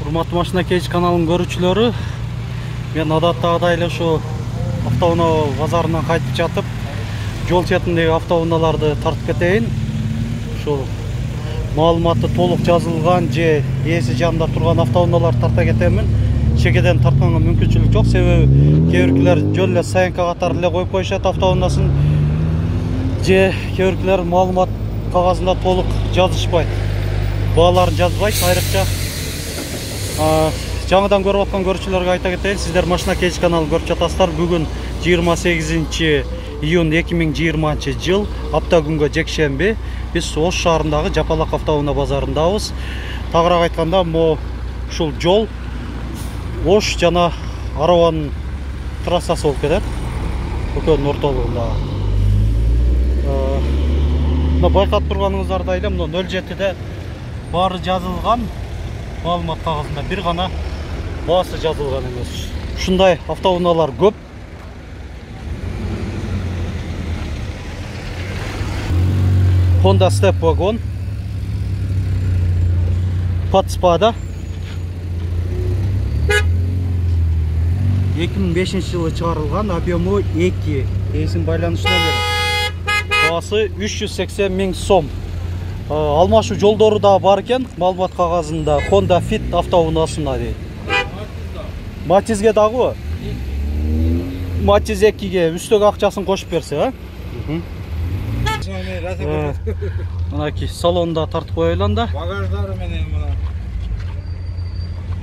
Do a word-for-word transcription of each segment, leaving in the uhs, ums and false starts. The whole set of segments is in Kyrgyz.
Урматтуу Машина Кейж каналынын көрүүчүлөрү, мен адаттагыдай эле ушу автоунаа базарынан кайтып жатып, жол четиндеги автоунааларды тартып кетейин. Ушул маалыматы толук жазылган же ээси жанында турган автоунааларды тарта кетемин. Чекеден тартканга мүмкүнчүлүк жок, себеби кээ биркилер жөн эле саянка катары эле коюп коюшат автоунаасын, же кээ биркилер маалымат кагазында толук жазышпайт, бааларын жазбайт. Айрыкча жаңыдан көрүп аткан көрүүчүлөргө айта кетейин, сиздер Машина Кейж каналын көрүп жатасыздар. Бүгүн жыйырма сегизинчи июнь эки миң жыйырманчы жыл, апта күнгө жекшемби. Биз Ош шаарындагы Жапалак автоунаа базарындабыз. Тагыраак айтканда, могу ушул жол Ош жана Араванын трассасы болуп кетет. Экөөнүн ортолугунда. Мына байкап турганыңыздардай эле мына нөл жетиде баары жазылган. Маалымат кагазында бир гана баасы жазылган эмес. Ушундай автоунаалар көп. Honda Step Wagon, Подспада эки миң бешинчи жылы чыгарылган, объему эки, эсин байланыш номери. Баасы үч жүз сексен миң сом. Алмашуу жолдору да бар экен, маалымат кагазында Honda Fit автоунаасына дейт. Матизге дагы? Матиз экиге үстөгө акчасын кошуп берсе, а? Мынакей салонда тартып коелу анда. Багаждары менен мына.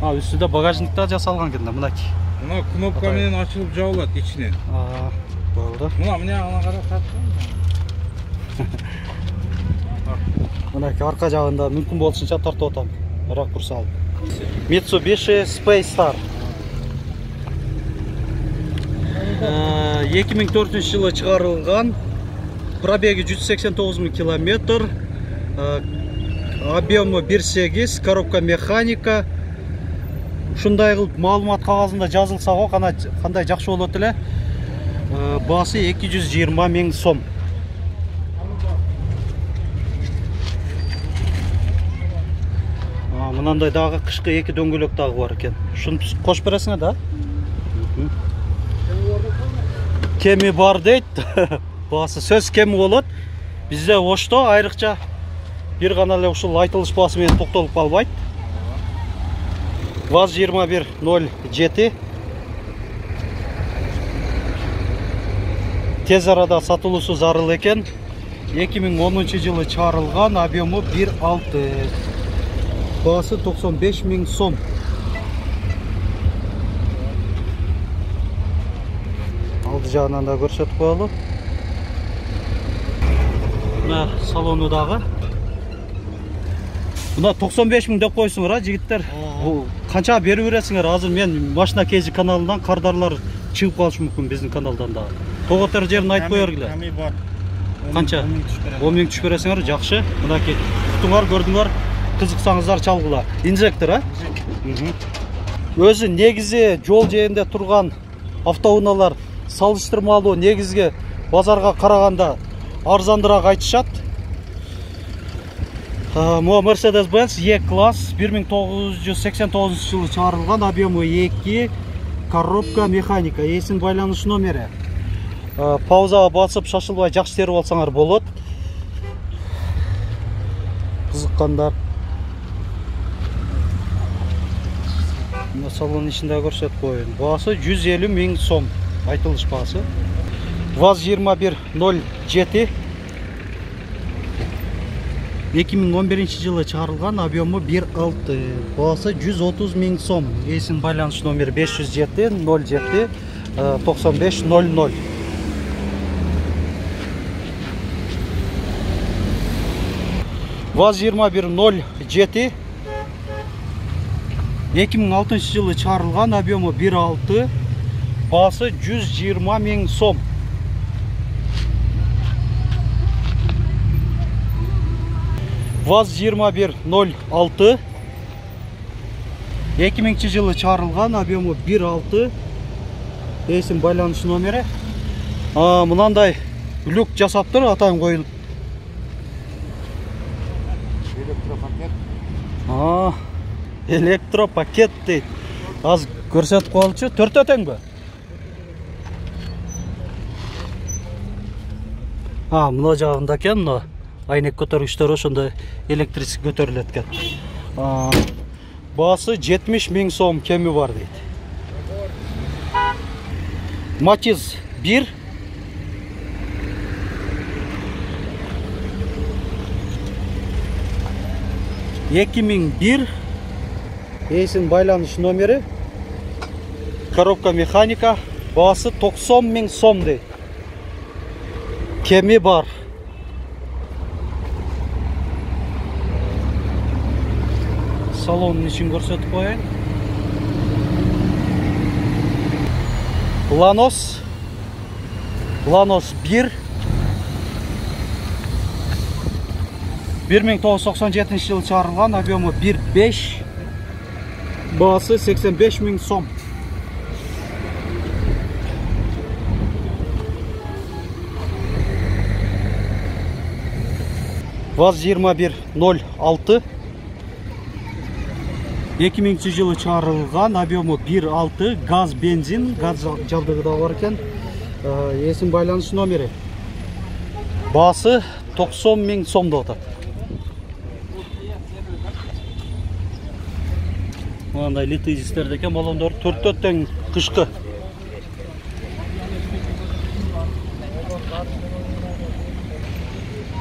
А, үстүдө багажник да жасалган экен да, мынакей. Мына кнопка менен ачылып жабылат ичинен. А, болду. Мына мына ана карап тартып. Мынакей арка жагында мүмкүн болушунча тартып атам. Ракурс алып. Mitsubishi Space Star. эки миң төртүнчү жылы чыгарылган, пробеги жүз сексен тогуз миң километр, объему бир сегиз, коробка механика. Ушундай кылып маалымат кагазында жазылса го, кандай жакшы болот эле. Баасы эки жүз жыйырма миң сом. Мынандай дагы кышкы эки дөңгөлөк дагы бар экен. Ушуну кошуп бересиңер да? Кеми бар дейт. Баасы сөз кеми болот. Бизде Ошто айрыкча бир гана эле ушул айтылыш баасы менен токтолуп калбайт. ВАЗ жыйырма бир ноль жети. Тез арада сатылуусу зарыл экен. эки миң онунчу жылы чыгарылган, объему бир алты. Баасы токсон беш миң сом. Алды жагынан да көрсөтүп коелу. Мына салону дагы. Мына токсон беш миң деп койсуңар, а жигиттер. Канча берип бересиңер? Азыр мен Машина Кейж каналынан кардарлар чыгып калышы мүмкүн биздин каналдан да. Тоготер жерин айтып кое бергиле. Канча? он миң түшүп бересиңер, жакшы. Мынакей туттуңар, көрдүңөр. Кызыксаңыздар чалгыла. Инжектор, а? Өзү негизи жол жээнде турган автоунаалар салыштырмалуу негизги базарга караганда арзандыраак айтышат. Могу Mercedes-Benz E-класс бир миң тогуз жүз сексен тогузунчу жылы чыгарылган, объему эки, коробка механика, эсин байланыш номери. Паузага басып шашылбай жакшы терип алсаңар болот. Кызыккандар. Салон ичинде көрсөтүп коеюн. Баасы жүз элүү миң сом. Айтылыш баасы. ВАЗ жыйырма бир ноль жети. эки миң он биринчи жылы чыгарылган, объему бир алты. Баасы жүз отуз миң сом. Эсин байланыш номери беш жүз жети ноль жети токсон беш ноль ноль. ВАЗ жыйырма бир ноль жети. эки миң алтынчы жылы чыгарылган, объему бир алты. Баасы жүз жыйырма миң сом. ВАЗ жыйырма бир ноль алты. эки миңчи жылы чыгарылган, объему бир алты. Эсин байланыш номери. Мынандай люк жасаптыр, атайын коюлуп. электропакет дейт. Аз көрсөтүп коелучу. Төртөө теңбі? А, мына жагында экен, мына айнек көтөргүчтөр ошондой электрический көтөрүлөт экен. Баасы жетимиш миң сом кеми бар дейт. Матиз бир. эки миң бир. Эсин байланыш номери. Коробка механика. Баасы токсон миң сом дейт. Кеми бар. Салонун ичин көрсөтүп коеюн. Ланос. Ланос бир. бир миң тогуз жүз токсон жетинчи жылы чыгарылган, объему бир беш. Баасы сексен беш миң сом. ВАЗ жыйырма бир ноль алты. эки миңинчи жылы чыгарылган, объему бир алты, газ, бензин, газ жабдыгы да бар экен. Эсин байланыш номери. Баасы токсон миң сом деп атат. Мындай литый дистерде экен, баллондор төртөө тең кышкы.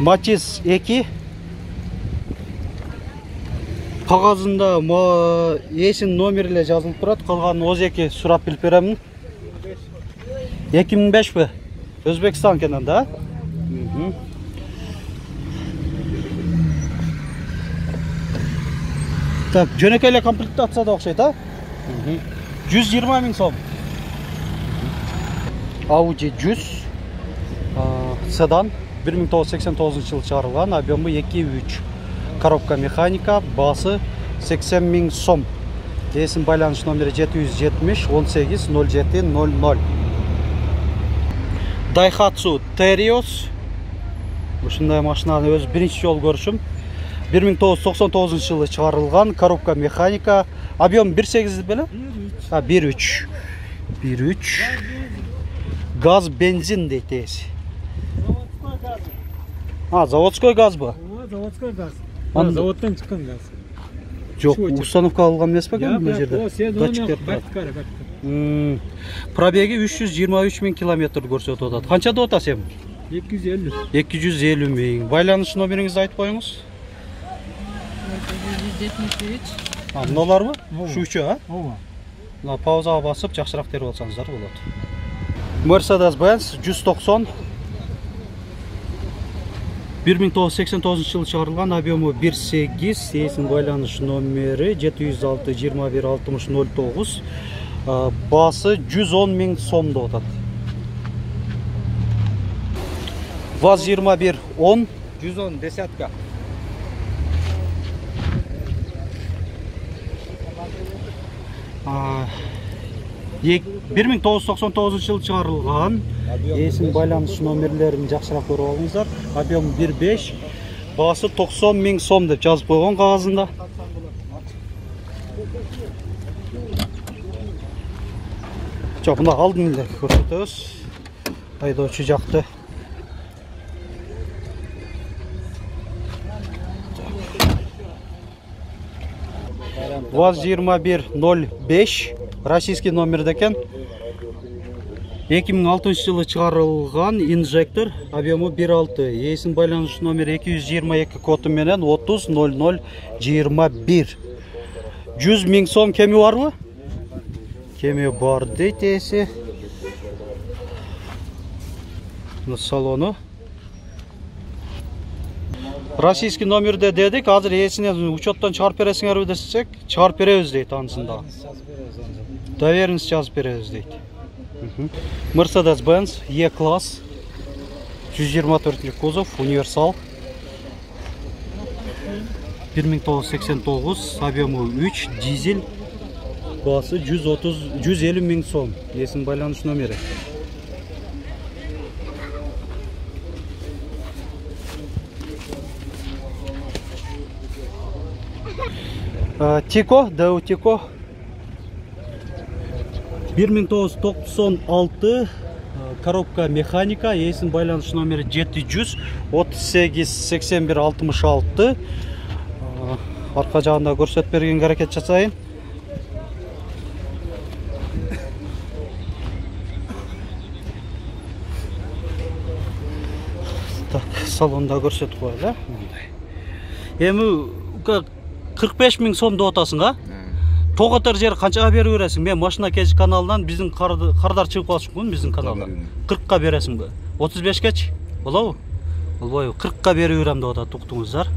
Матиз эки. Кагазында эсин номерле жазылып турат, калган отуз эки сурап билип беремин. эки миң бешпи? Өзбекстан экенен да? Так, жөнөкөй эле комплектацияда окшойт, а? жүз жыйырма миң сом. Audi жүз седан, бир миң тогуз жүз сексен тогузунчу жылы чыгарылган, объему эки үч. Коробка механика, баасы сексен миң сом. Эсин байланыш номери жети жүз жетимиш он сегиз ноль жети ноль ноль. Daihatsu Terios. Ушундай машинаны өз биринчи жолу көрүшүм. бир миң тогуз жүз токсон тогузунчу жылы чыгарылган, коробка механика, объем бир сегиз беле? А, бир үч. бир үч. Газ, бензин дейт эси. А, заводской газбы? Заводской газ. А, заводтан чыккан газ. Жок, установка алган эмес бекен бул жерде? Датчиктер бар. Пробеги үч жүз жыйырма үч миң километр көрсөтүп атат. Канча деп атасыз эми? эки жүз элүү. эки жүз элүү миң. Байланыш номериңизди айтып коюңуз. жетимиш үч. А, мыналарбы? Ушучу, а? Ооба. Мына паузага басып, жакшыраак терип алсаңыздар болот. Mercedes-Benz жүз токсон. бир миң тогуз жүз сексен тогузунчу жылы чыгарылган, объему бир сегиз, эсин байланыш номери жети жүз алты жыйырма бир алтымыш ноль тогуз. Баасы жүз он миң сом деп атат. ВАЗ жыйырма бир он. жүз он десятка. бир миң тогуз жүз токсон тогузунчу жылы чыгарылган. Эсин байланыш номерлерин жакшыраак көрүп алыңыздар. Объем бир беш, баасы токсон миң сом деп жазып койгон кагазында. Жок, мына алдын эле көрсөтөбүз. Айдоочу жакты. ВАЗ жыйырма бир ноль беш, российский номерде экен. эки миң алтынчы жылы чыгарылган, инжектор, объему бир алты. Эсин байланыш номери эки жүз жыйырма эки коду менен отуз ноль ноль жыйырма бир. жүз миң сом кеми барбы? Кеми бар дейт эси. Салону. Российский номерде дедик, азыр эсинен учеттон чыгарып бересиңерби десек, чыгарып беребиз дейт анысында. Доверенность жазып беребиз дейт. Mercedes-Benz E-класс, жүз жыйырма төртүнчү кузов, универсал. бир миң тогуз жүз сексен тогуз, объему үч, дизель. Баасы жүз отуз жүз элүү миң сом. Эсин байланыш номери. Тико, Дэу Тико. бир миң тогуз жүз токсон алты, коробка механика, эсин байланыш номери жети жүз отуз сегиз сексен бир алтымыш алты. Арка жагында көрсөтүп бергенге аракет жасайын. Так, салонда көрсөтүп коелу. Эми кырк беш миң сом деп атасың, а? Тоготор жер канчага берип бересиң? Мен машина кеш каналынан биздин кардар чыгып калышкын биздин каналдан. кыркка бересиңби? отуз бешкечи? Болобу? Болбойбу. кыркка берип берем деп атат, уктуңуздар.